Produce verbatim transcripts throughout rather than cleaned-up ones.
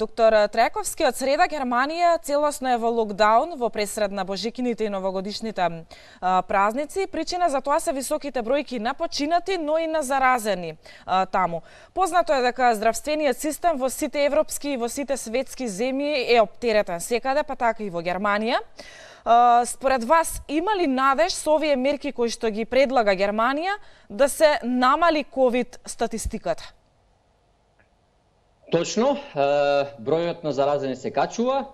Доктор Трајковски, од среда Германија целосно е во локдаун во пресред на божикините и новогодишните а, празници. Причина за тоа се високите бројки на починати, но и на заразени а, таму. Познато е дека здравствениот систем во сите европски и во сите светски земји е оптеретен секаде, па така и во Германија. А, според вас, има ли надеж со овие мерки кои што ги предлага Германија да се намали ковид статистиката? Точно, бројот на заразени се качува,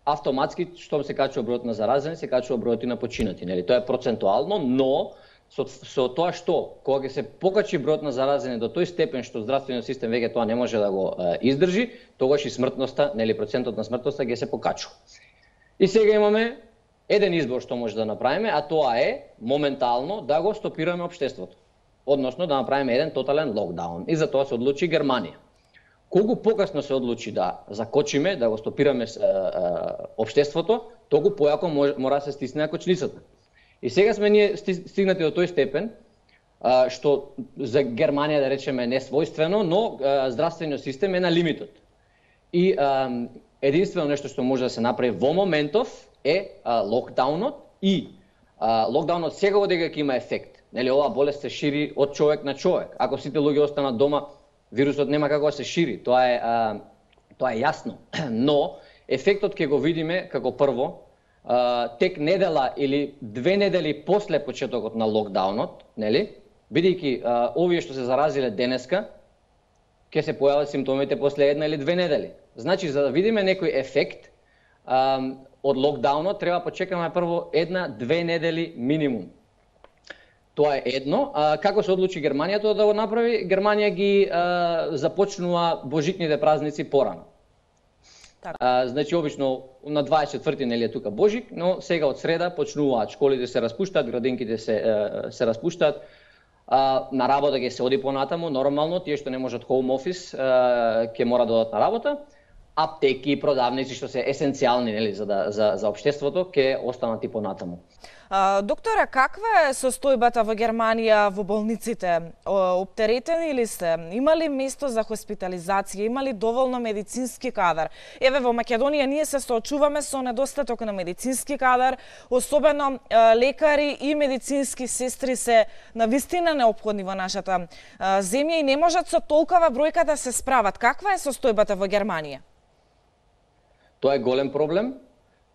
автоматски штом се качува бројот на заразени, се качува бројот и на починати, нели? Тоа е процентуално, но со, со тоа што кога ќе се покачи бројот на заразени до тој степен што здравствениот систем веќе тоа не може да го е, издржи, тогаш и смртноста, нели, процентот на смртноста ќе се покачува. И сега имаме еден избор што може да направиме, а тоа е моментално да го стопираме општеството, односно да направиме еден тотален локдаун. И за тоа се одлучи Германија. Колку покасно се одлучи да закочиме, да го стопираме е, е, општеството, толку појако мора да се стисне кочницата. И сега сме ние стигнати до тој степен, е, што за Германија, да речеме, не својствено, но е, здравствениот систем е на лимитот. И е, единствено нешто што може да се направи во моментов е, е локдаунот и е, локдаунот сега дека ќе има ефект. Нели, оваа болест се шири од човек на човек. Ако сите луѓе останат дома, вирусот нема како да се шири, тоа е, а, тоа е јасно. Но ефектот ќе го видиме како прво, а, тек недела или две недели после почетокот на локдаунот, нели? Бидејќи а, овие што се заразиле денеска, ќе се појават симптомите после една или две недели. Значи, за да видиме некој ефект а, од локдаунот, треба почекаме прво една-две недели минимум. Тоа е едно. А, како се одлучи Германија тоа да го направи? Германија ги а, започнува божитните празници порано. А, значи, обично на дваесет и четврти нели е тука Божик, но сега од среда почнуваат, школите се распуштаат, градинките се, се распуштаат, а, на работа ќе се оди понатаму, нормално, тие што не можат home office ќе мора да одат на работа. Аптеки, продавници што се есенцијални, нели, за да, за за општеството, ќе останат и понатаму. А, доктора, каква е состојбата во Германија во болниците? Оптеретени ли се? Има ли место за хоспитализација? Има ли доволно медицински кадар? Еве, во Македонија ние се соочуваме со недостаток на медицински кадар, особено а, лекари и медицински сестри се навистина неопходни во нашата а, земја и не можат со толкова бројка да се справат. Каква е состојбата во Германија? Тоа е голем проблем.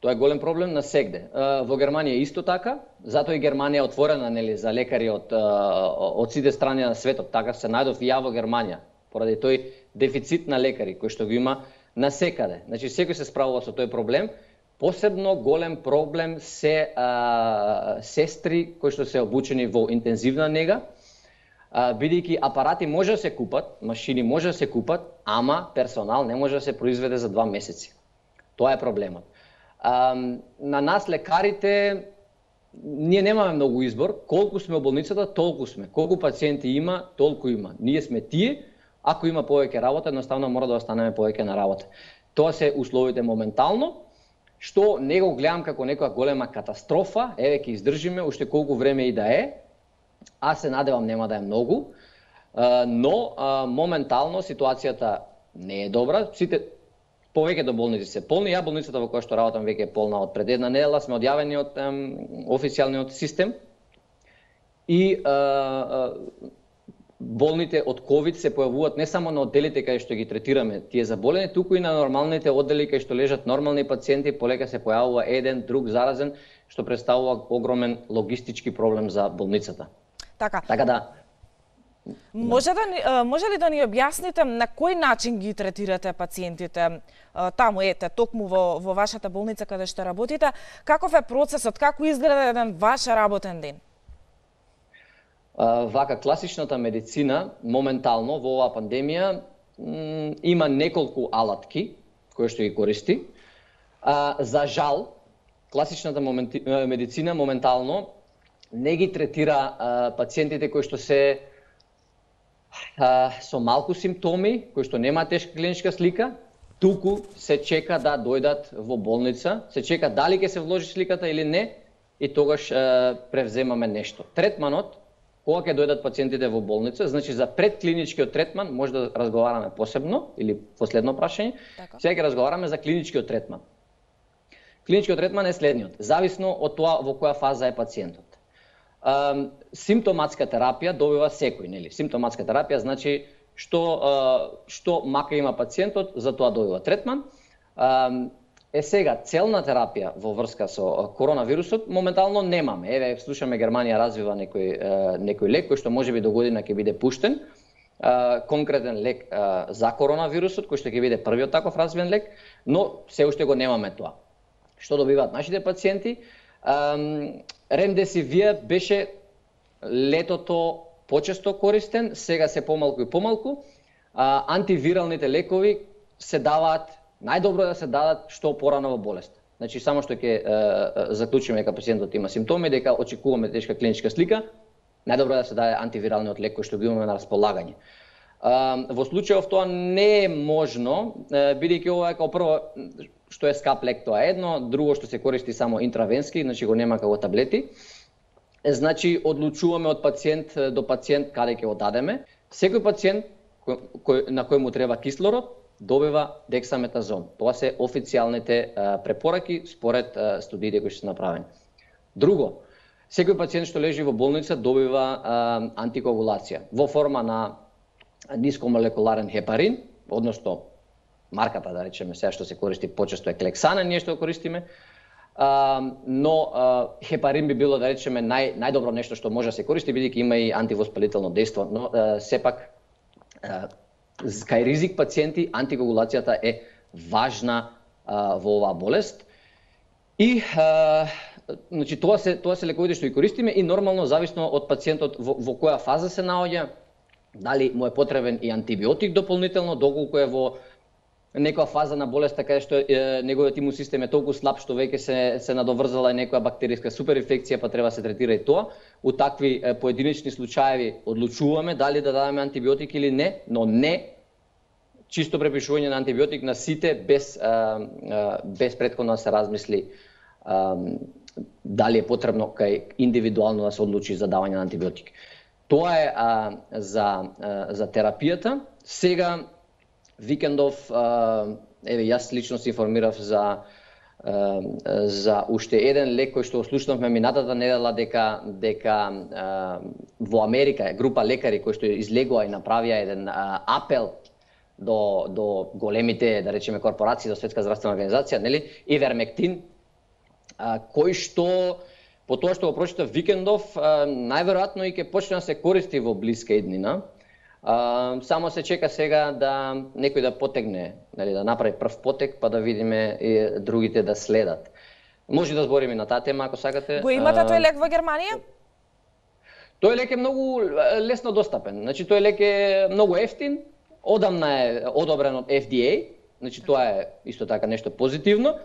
Тоа е голем проблем на сегде. Во Германија исто така, затоа и Германија е отворена, нели, за лекари од од сите страни на светот. Така се најдов и ја во Германија, поради тој дефицит на лекари кој што го има насекаде. Значи секој се справува со тој проблем. Посебно голем проблем се а, сестри кои што се обучени во интензивна нега, бидејќи апарати може да се купат, машини може да се купат, ама персонал не може да се произведе за два месеци. Тоа е проблемот. Um, на нас лекарите ние немаме многу избор, колку сме во болницата, толку сме. Колку пациенти има, толку има. Ние сме тие, ако има повеќе работа, едноставно мора да останеме повеќе на работа. Тоа се условите моментално, што не го гледам како некоја голема катастрофа, еве ќе издржиме уште колку време и да е. Аз се надевам нема да е многу, но моментално ситуацијата не е добра. Сите повеќе до болници се полни. Ја болницата во која што работам веќе е полна од пред една недела, сме одјавени од ем, официјалниот систем. И е, е, болните од ковид се појавуваат не само на одделите каде што ги третираме тие заболени, туку и на нормалните оддели каде што лежат нормални пациенти, полека се појавува еден, друг заразен, што представува огромен логистички проблем за болницата. Така. Така да. Може да може ли да ни објасните на кој начин ги третирате пациентите таму, ете, токму во во вашата болница каде што работите? Каков е процесот? Како изгледа еден ваш работен ден? Вака, класичната медицина моментално во оваа пандемија има неколку алатки кои што ги користи. За жал, класичната медицина моментално не ги третира пациентите кои што се со малку симптоми, кои што нема тешка клиничка слика, туку се чека да дојдат во болница, се чека дали ќе се вложи сликата или не, и тогаш е, превземаме нешто. Третманот кога ќе дојдат пациентите во болница, значи за предклиничкиот третман може да разговараме посебно или последно прашање. Така. Сега ќе разговараме за клиничкиот третман. Клиничкиот третман е следниот, зависно од тоа во која фаза е пациентот. Um, симптоматска терапија добива секој, нели? Симптоматска терапија значи што uh, што мака има пациентот, за тоа добива третман. Um, Е сега, целна терапија во врска со коронавирусот моментално немаме. Еве, слушаме Германија развива некој некој лек кој што можеби до година ќе биде пуштен, конкретен лек за коронавирусот кој што ќе биде првиот таков развиен лек, но се уште го немаме тоа. Што добиваат нашите пациенти? Ремдесивир беше летото почесто користен, сега се помалку и помалку. Антивиралните лекови се даваат, најдобро е да се дадат што порано во болест. Значи само што ќе заклучиме дека пациентот има симптоми, дека очекуваме тешка клиничка слика, најдобро е да се даде антивиралниот лек кој што го имаме на располагање. Во случајов тоа не е можно, бидејќи ова е како прво што е скап лек, тоа е едно, друго што се користи само интравенски, значи го нема како таблети. Значи одлучуваме од пациент до пациент каде ќе го дадеме. Секој пациент кој, кој, на кој му треба кислород добива дексаметазон. Тоа се официјалните а, препораки според а, студиите кои се направени. Друго, секој пациент што лежи во болница добива а, антикоагулација во форма на нискомолекуларен хепарин, односно марката, да речеме, сега што се користи почесто е клексана, ние што го користиме, а, но а, хепарин би било, да речеме, нај, најдобро нешто што може да се користи, бидејќи има и антивоспалително дејство, но а, сепак а, кај ризик пациенти, антикоагулацијата е важна а, во оваа болест. И а, значи тоа се тоа се лековите што ги користиме и нормално зависно од пациентот во, во која фаза се наоѓа, дали му е потребен и антибиотик дополнително, доколку е во некоја фаза на болест така што е, неговиот имун систем е толку слаб што веќе се се надоврзала и некоја бактериска суперинфекција, па треба се третира и тоа. У такви е, поединечни случаеви одлучуваме дали да дадеме антибиотик или не, но не чисто препишување на антибиотик на сите без а, а, без претходно да се размисли а, дали е потребно кај индивидуално да се одлучи за давање на антибиотик. Тоа е а, за а, за терапијата. Сега викендов, еве јас лично се информирав за за уште еден лек кој што слушнавме минатата недела дека дека во Америка група лекари кои што излегува и направија еден апел до до големите, да речеме, корпорации, до Светска здравствена организација, нели, ивермектин, кој што по тоа што го прочитав викендов, најверојатно и ќе почне да се користи во блиска иднина. Uh, само се чека сега да некој да потегне, нели, да направи прв потек, па да видиме и другите да следат. Може да збориме на таа тема ако сакате. Го имате uh, тој лек во Германија? Тој лек е многу лесно достапен. Значи тој лек е многу ефтин, одамна е одобрен од Ф Д А, значи тоа е исто така нешто позитивно.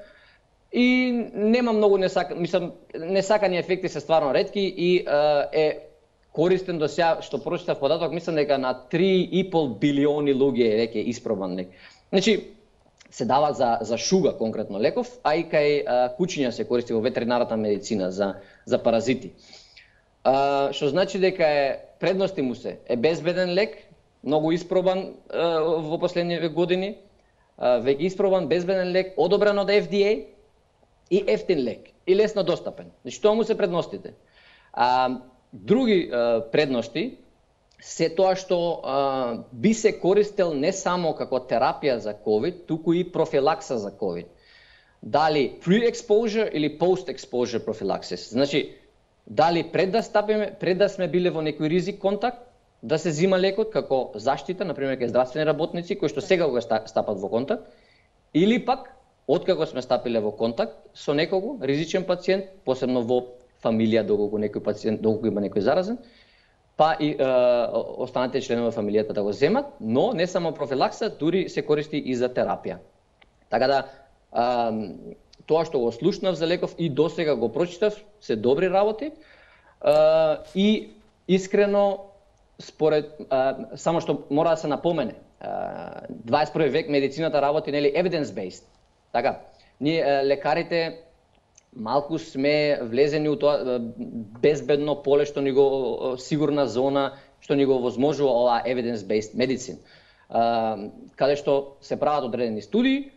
И нема многу несака, мислам, несакани ефекти се стварно ретки и uh, е користен до сега, што прочитав податок, мислам дека на три и пол билиони луѓе е веќе испробан лек. Значи, се дава за, за шуга конкретно леков, а и кај а, кучиња се користи во ветеринарната медицина за, за паразити. А, што значи дека е предности му се, е безбеден лек, многу испробан а, во последниве години, а, веќе испробан, безбеден лек, одобрен од Ф Д А и ефтин лек, и лесно достапен. Значи, тоа му се предностите. А, Други а, предности се тоа што а, би се користел не само како терапија за ковид, туку и профилакса за ковид. Дали pre-exposure или post-exposure профилаксис. Значи, дали пред да стапиме, пред да сме биле во некој ризик контакт, да се зима лекот како заштита, например кај здравствени работници кои што сега го стапат во контакт, или пак откако сме стапиле во контакт со некого ризичен пациент, посебно во фамилија, доколку некој пациент, доколку има некој заразен, па и е, останатите членови на фамилијата да го земат, но не само профилакса, дури се користи и за терапија. Така да, е, тоа што го слушнав за леков и досега го прочитав, се добри работи, е, и искрено, според, е, само што мора да се напомене, е, дваесет и први век медицината работи, нели, evidence-based. Така, ние е, лекарите малку сме влезени у тоа безбедно поле што ни го сигурна зона што ни го овозможува оваа evidence-based medicine, каде што се прават одредени студии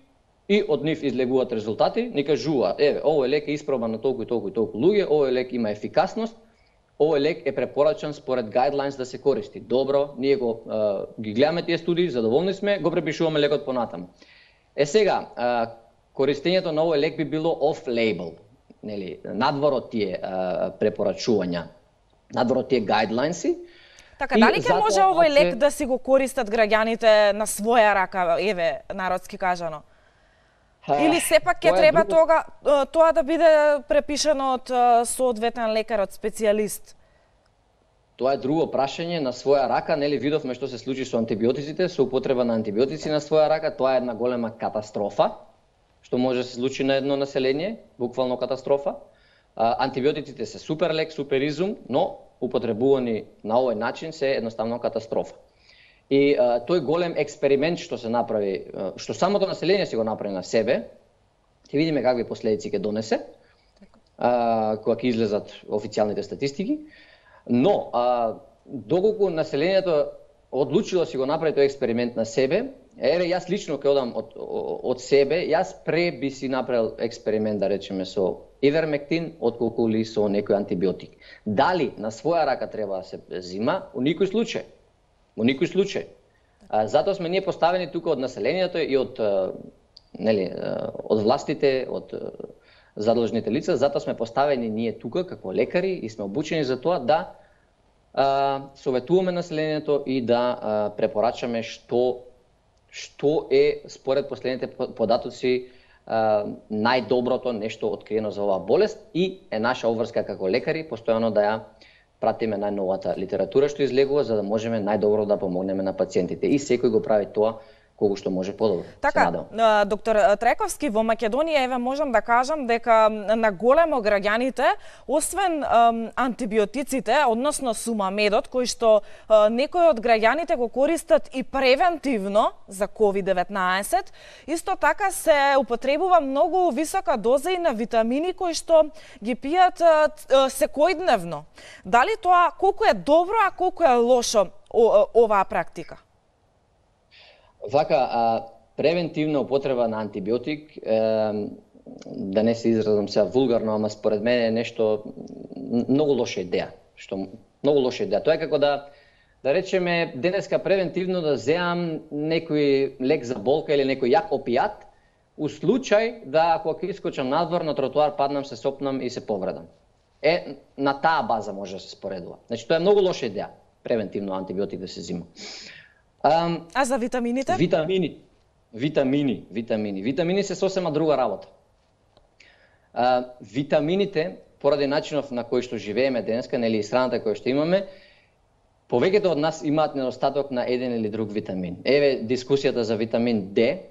и од нив излегуваат резултати, ни кажуваат, еве, овој лек е испробан на толку и толку и толку луѓе, овој лек има ефикасност, овој лек е препорачан според guidelines да се користи. Добро, ние го ги гледаме тие студии, задоволни сме, го препишуваме лекот понатаму. Е сега, користењето на овој лек би било off-label, нели, надвор од тие препорачувања, надвор од тие guidelines-и. Така, дали ќе може овој лек да си го користат граѓаните на своја рака, еве, народски кажано? Или сепак ќе треба друго... тога, тоа да биде препишано од соодветен лекар, од специјалист? Тоа е друго прашање, на своја рака, нели видовме што се случи со антибиотиците, со употреба на антибиотици на своја рака, тоа е една голема катастрофа, што може да се случи на едно население, буквално катастрофа. Антибиотиците се супер лек, супер изум, но употребувани на овој начин се едноставно катастрофа. И а, тој голем експеримент што се направи, што самото население си го направи на себе, ќе видиме какви последици ќе донесе, а, кога ќе излезат официјалните статистики, но а, доколку населението одлучило си го направи тој експеримент на себе, еве јас лично ќе одам од, од себе, јас пре би си направил експеримент, да речеме, со ивермектин, отколку ли со некој антибиотик. Дали на своја рака треба да се зима? У никој случај. Во никој случај. А, затоа сме ние поставени тука од населението и од, нели, од властите, од задлъжните лица, затоа сме поставени ние тука како лекари и сме обучени за тоа да а, советуваме населението и да а, препорачаме што што е според последните податоци а, најдоброто нешто откриено за оваа болест и е наша обврска како лекари постојано да ја пратиме најновата литература што излегува за да можеме најдобро да помогнеме на пациентите и секој го прави тоа колку што може подобро. Така, доктор Трековски, во Македонија еве можам да кажам дека на големо граѓаните, освен ем, антибиотиците, односно сумамедот, кој што е, некои од граѓаните го користат и превентивно за ковид деветнаесет, исто така се употребува многу висока доза и на витамини кои што ги пијат е, секојдневно. Дали тоа колку е добро, а колку е лошо о, оваа практика? Вака, а, превентивна употреба на антибиотик, е, да не се изразам сега вулгарно, ама според мене е нешто многу лоша идеја. Што многу лоша идеја. Тоа е како да да речеме денеска превентивно да земам некој лек за болка или некој јак опијат, у случај да ако ќе искочам надвор на тротоар, паднам, се сопнам и се повредам. Е, на таа база може да се споредува. Значи тоа е многу лоша идеја, превентивно антибиотик да се зима. Um, а за витамините? Витамини, витамини, витамини. Витамини се сосема друга работа. Uh, витамините, поради начинов на кој што живееме денеска, нели и страната која што имаме, повеќето од нас имаат недостаток на еден или друг витамин. Еве дискусијата за витамин Д,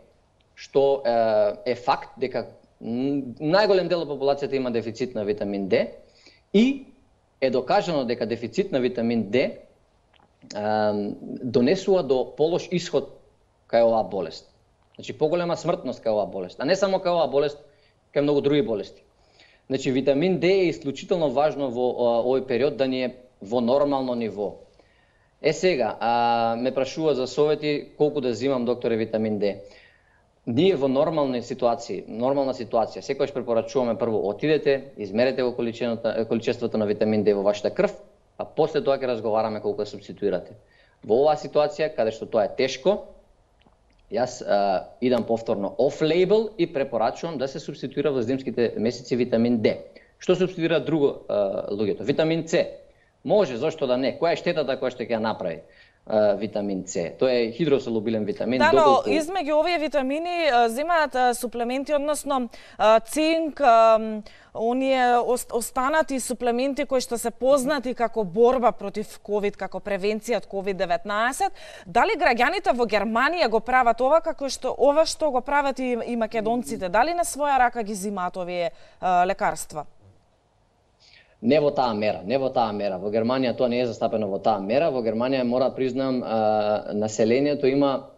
што uh, е факт дека најголем дел од популацијата има дефицит на витамин Д и е докажано дека дефицит на витамин Д донесува до полош исход кај оваа болест. Значи поголема смртност кај оваа болест, а не само кај оваа болест, кај многу други болести. Значи витамин Д е исклучително важно во овој период да ни е во нормално ниво. Е сега, а, ме прашува за совети колку да зимам, докторе, витамин Д. Ние во нормални ситуации, нормална ситуација, секогаш препорачуваме прво отидете, измерете го количеството на витамин Д во вашата крв, а после тоа ќе разговараме колку да субституирате. Во оваа ситуација, каде што тоа е тешко, јас а, идам повторно off-label и препорачувам да се субституира во зимските месеци витамин Д. Што субституира друго а, луѓето? Витамин С. Може, зошто да не? Која е штетата која што ќе ја направи а, витамин С? Тоа е хидросолубилен витамин. Да, но доколку... измеѓу овие витамини земаат суплементи, односно цинк, оние останати суплементи кои што се познати како борба против ковид, како превенција од ковид деветнаесет. Дали граѓаните во Германија го прават ова како што ова што го прават и, и македонците? Дали на своја рака ги зимаат овие а, лекарства? Не во таа мера, не во таа мера. Во Германија тоа не е застапено во таа мера. Во Германија мора да признам а, населението има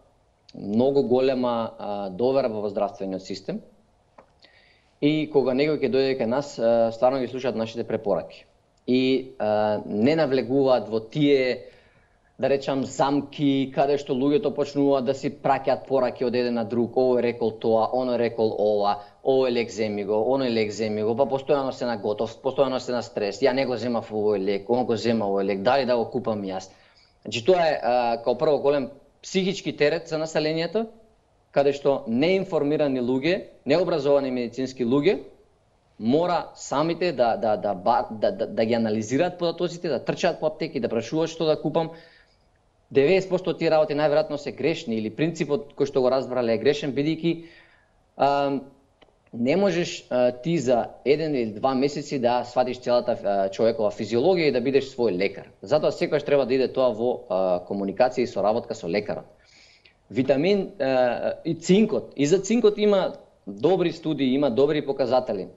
многу голема а, доверба во здравствениот систем. и кога некој ќе дојде кај нас, стварно ги слушаат нашите препораки. И а, не навлегуваат во тие, да речам, замки, каде што луѓето почнуваат да си праќаат пораки од еден на друг, овој рекол тоа, оној рекол ова, овој лек земи го, оној лек земи го, па постојано се на готов, постојано се на стрес, ја не го земав овој лек, он го зема овој лек, дали да го купам јас. Значи тоа е а, као прво голем психички терет за населението, каде што неинформирани луѓе, необразовани медицински луѓе, мора самите да, да, да, да, да, да ги анализираат податоците, да трчаат по аптеки, да прашуваат што да купам. деветдесет проценти од тие работи најверојатно се грешни или принципот кој што го разбрале е грешен, бидејќи не можеш а, ти за еден или два месеци да сватиш целата а, човекова физиологија и да бидеш свој лекар. Затоа секогаш треба да иде тоа во а, комуникација и соработка со лекарот. Витамин а, и цинкот. И за цинкот има добри студии, има добри показатели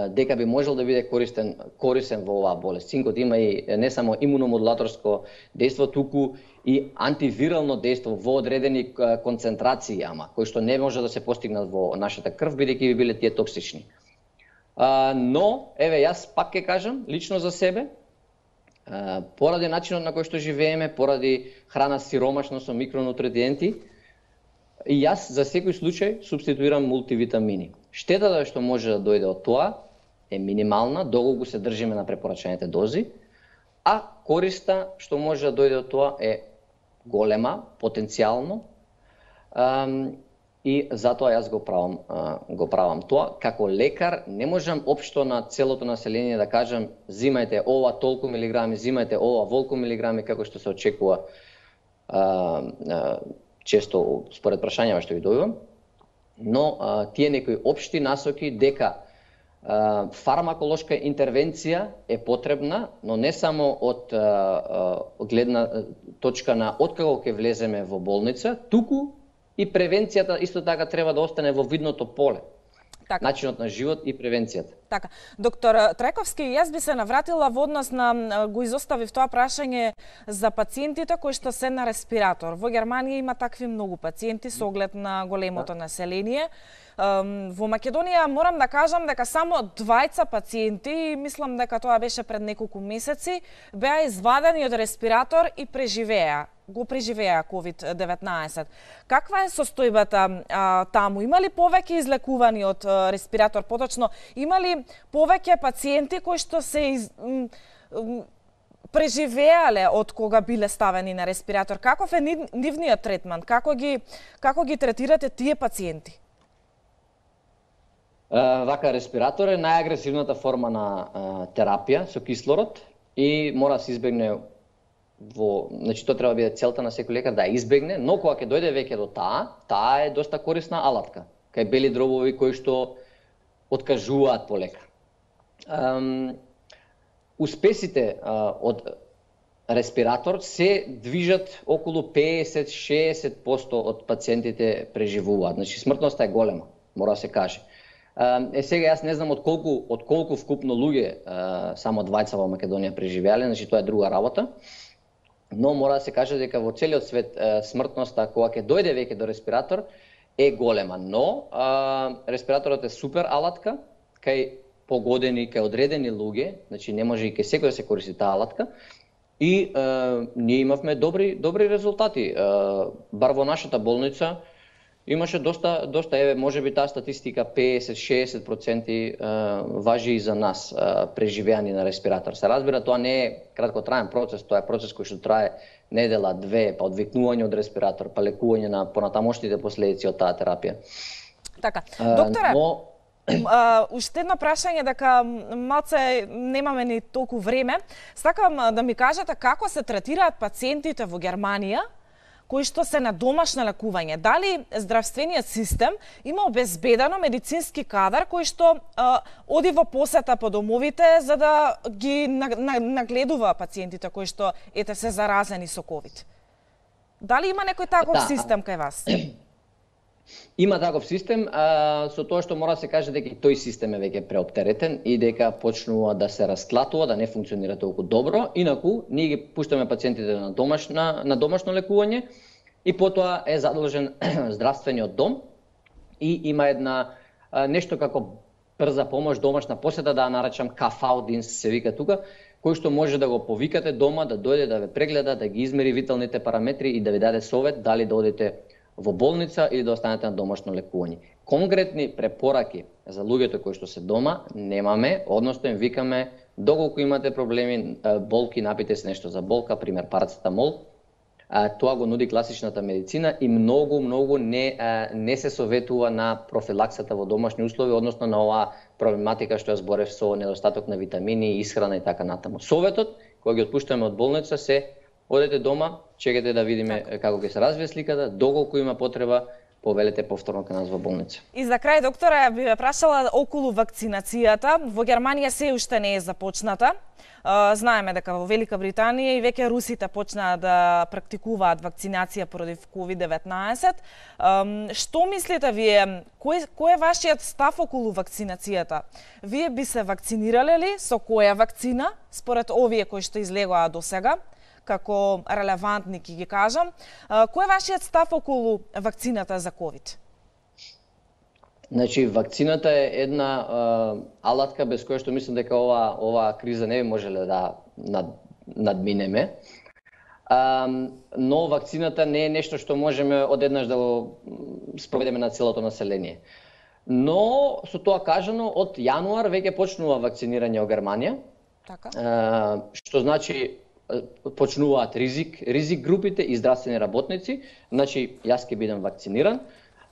дека би можел да биде користен корисен во оваа болест. Цинкот има и не само имуномодулаторско дејство, туку и антивирално дејство во одредени концентрации, ама кои што не може да се постигнат во нашата крв, бидејќи би биле тие токсични. А, но, еве, јас пак ќе кажам, лично за себе, а, поради начинот на кој што живееме, поради храна сиромашна со микронутриенти, и јас за секој случај субституирам мултивитамини. Штетата што може да дојде од тоа е минимална, доколку се држиме на препорачаните дози, а користа што може да дојде од тоа е голема, потенцијално, и затоа јас го правам, го правам тоа. Како лекар не можам општо на целото население да кажам зимајте ова толку милиграми, зимајте ова волку милиграми, како што се очекува често според прашањава што ги добивам. Но а, тие некои општи насоки дека а, фармаколошка интервенција е потребна, но не само од а, а, гледна точка на откако ќе влеземе во болница, туку и превенцијата исто така треба да остане во видното поле. Така. Начинот на живот и превенцијата. Така. Доктор Трајковски, јас би се навратила во однос на, го изоставив тоа прашање за пациентите кои што се на респиратор. Во Германија има такви многу пациенти со оглед на големото население. Во Македонија морам да кажам дека само двајца пациенти, мислам дека тоа беше пред неколку месеци, беа извадени од респиратор и преживеа. го преживеа ковид деветнаесет. Каква е состојбата а, таму? Има ли повеќе излекувани од а, респиратор? Поточно, има ли повеќе пациенти кои што се из, м, м, преживеале од кога биле ставени на респиратор? Каков е нивниот третман? Како ги, како ги третирате тие пациенти? Uh, вака, респиратор е најагресивната форма на uh, терапија со кислород и мора да се избегне во, значи тоа треба да биде целта на секој лекар да ја избегне, но кога ќе дојде веќе до таа, таа е доста корисна алатка. Кај бели дробови кои што откажуваат полека. Um, успесите uh, од респиратор се движат околу петдесет до шеесет проценти од пациентите преживуваат. Значи смртноста е голема, мора да се каже. Е, сега јас не знам од колку, од колку вкупно луѓе само двајца во Македонија преживеале, значи тоа е друга работа. Но мора да се каже дека во целиот свет смртноста кога ќе дојде веќе до респиратор е голема, но а, респираторот е супер алатка кај погодени, кај одредени луѓе, значи не може и кај секој да се користи таа алатка. И а, ние имавме добри добри резултати. А, бар во нашата болница имаше доста, доста еве, можеби таа статистика петдесет до шеесет проценти важи и за нас, преживеани на респиратор. Се разбира, тоа не е краткотраен процес, тоа е процес кој што трае недела, две, па одвикнување од респиратор, па лекување на понатамошните последици од таа терапија. Така, докторе, но... Uh, уште едно прашање, дека малце немаме ни толку време. Сакам да ми кажете како се третираат пациентите во Германија кои што се на домашно лекување. Дали здравствениот систем има обезбедено медицински кадар кој што а, оди во посета по домовите за да ги нагледува пациентите кои што ете се заразени со ковид? Дали има некој таков да. систем кај вас? Има таков систем, а, со тоа што мора да се каже дека тој систем е веќе преоптеретен и дека почнува да се расклатува, да не функционира толку добро. Инаку, ние ги пуштаме пациентите на домашна, на домашно лекување и потоа е задолжен здравствениот дом и има една а, нешто како брза помош, домашна посета, да ја наречам кафаудинс се вика тука, кој што може да го повикате дома, да дојде да ве прегледа, да ги измери виталните параметри и да ви даде совет дали да одите во болница или да останете на домашно лекување. Конкретни препораки за луѓето кои што се дома немаме, односно им викаме доколку имате проблеми, болки, напите се нешто за болка, пример парацетамол. Тоа го нуди класичната медицина и многу, многу не, не се советува на профилаксата во домашни услови, односно на оваа проблематика што ја зборев со недостаток на витамини, исхрана и така натаму. Советот, кој ги отпуштаме од болница, се одете дома, чекате да видиме так. како ќе се развие сликата, доколку има потреба, повелете повторно кај нас во болница. И за крај, доктора, би ве прашала околу вакцинацијата. Во Германија се уште не е започната. Знаеме дека во Велика Британија и веќе русите почнаа да практикуваат вакцинација против ковид деветнаесет. Што мислите вие, кој, кој е вашиот став околу вакцинацијата? Вие би се вакцинирале ли, со која вакцина, според овие кои што излегоа досега, како релевантни ќе ги кажам? Кој е вашиот став околу вакцината за ковид? Значи, вакцината е една а, алатка без која што мислам дека ова ова криза не би можеле да над, надминеме. А, но вакцината не е нешто што можеме одеднаш да го спроведеме на целото население. Но со тоа кажано, од јануар веќе почнува вакцинирање во Германија. Така. А, што значи почнуваат ризик ризик групите и здравствени работници. Значи, јас ќе бидам вакциниран.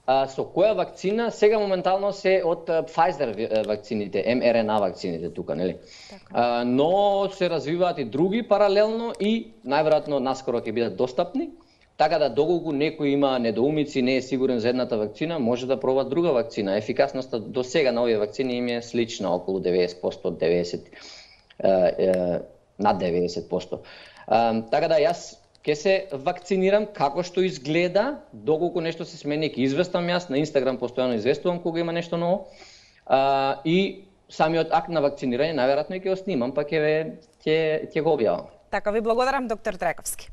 А, со која вакцина? Сега моментално се од Pfizer вакцините, ем ер ен а вакцините тука, нели? Така. А, но се развиваат и други паралелно и најверојатно наскоро ќе бидат достапни. Така да доколку некој има недоумици, не е сигурен за едната вакцина, може да проба друга вакцина. Ефикасноста до сега на овие вакцини им е слична, околу деветдесет проценти, деветдесет е, е, над деветдесет проценти. А, така да јас ќе се вакцинирам како што изгледа, доколку нешто се смени, ќе известам јас, на Инстаграм постојано известувам кога има нешто ново. А, и самиот акт на вакцинирање најверојатно ќе го снимам, па ќе ќе ќе го објавам. Така, ви благодарам, доктор Трајковски.